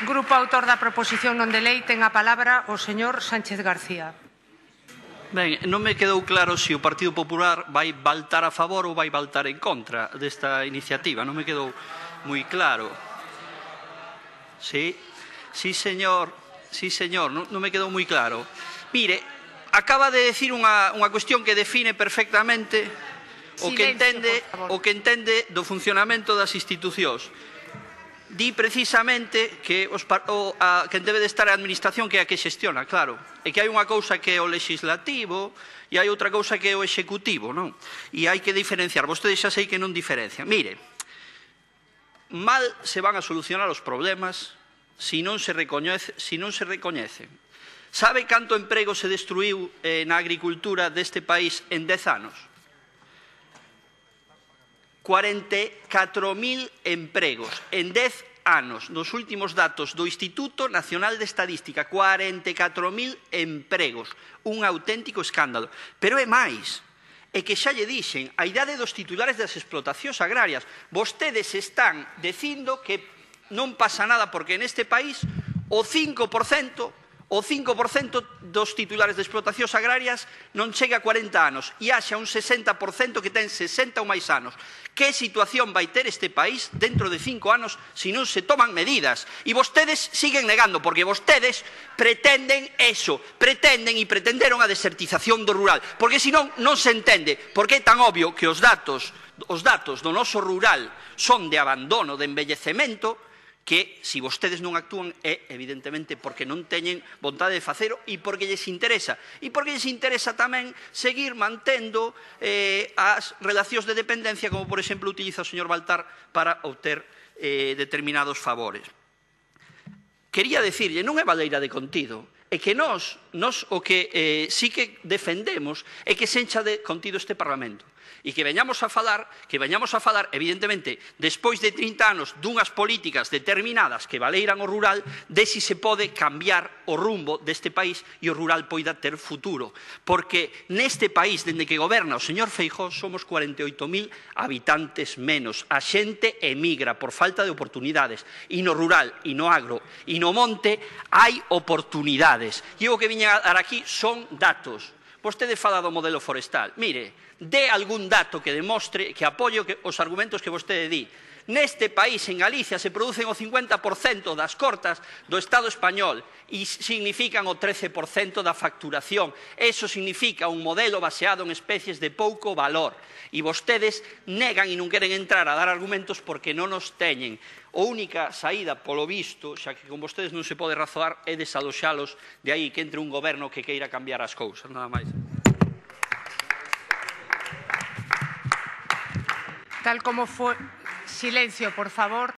Grupo autor da proposición non de lei, ten a palabra o señor Sánchez García. Ben, non me quedou claro se o Partido Popular vai votar a favor ou vai votar en contra desta iniciativa. Non me quedou moi claro. Sí, señor, non me quedou moi claro. Mire, acaba de decir unha cuestión que define perfectamente o que entende do funcionamento das institucións. Di precisamente que quen debe de estar a administración que é a que xestiona, claro, e que hai unha cousa que é o legislativo e hai outra cousa que é o executivo, non? E hai que diferenciar, vostedes xa sei que non diferencian. Mire, mal se van a solucionar os problemas se non se recoñecen. Sabe canto emprego se destruiu na agricultura deste país en 10 anos? 44.000 empregos en 10 anos, nos últimos datos do Instituto Nacional de Estadística, 44.000 empregos, un auténtico escándalo. Pero é máis, é que xa lle dixen, a idade dos titulares das explotacións agrarias, vostedes están dicindo que non pasa nada porque neste país o 5% dos titulares de explotacións agrarias non chega a 40 anos e haxa un 60% que ten 60 ou máis anos. Que situación vai ter este país dentro de 5 anos se non se toman medidas? E vostedes siguen negando, porque vostedes pretenden eso, pretenden e pretenderon a desertización do rural, porque senón non se entende porque é tan obvio que os datos do noso rural son de abandono, de envellecemento, que, se vostedes non actúan, é evidentemente porque non teñen vontade de facelo e porque lles interesa. E porque lles interesa tamén seguir mantendo as relacións de dependencia, como, por exemplo, utiliza o señor Baltar para obter determinados favores. Quería dicirlle, non é baleira de contido, é que nós o que sí que defendemos é que se encha de contido este Parlamento. E que veñamos a falar, evidentemente, despois de 30 anos dunhas políticas determinadas que valeiran o rural, de si se pode cambiar o rumbo deste país e o rural poida ter futuro. Porque neste país, dende que goberna o señor Feijóo, somos 48.000 habitantes menos. A xente emigra por falta de oportunidades. E no rural, e no agro, e no monte, hai oportunidades. E o que viña a dar aquí son datos. Vostede fala do modelo forestal. Mire, dé algún dato que demostre que apoie os argumentos que vostede di. Neste país, en Galicia, se producen o 50% das cortas do Estado español e significan o 13% da facturación. Eso significa un modelo baseado en especies de pouco valor. E vostedes negan e non queren entrar a dar argumentos porque non os teñen. A única saída, polo visto, xa que con vostedes non se pode razoar, é desaloxalos de aí que entre un goberno que queira cambiar as cousas. Nada máis. Tal como foi... Silencio, por favor.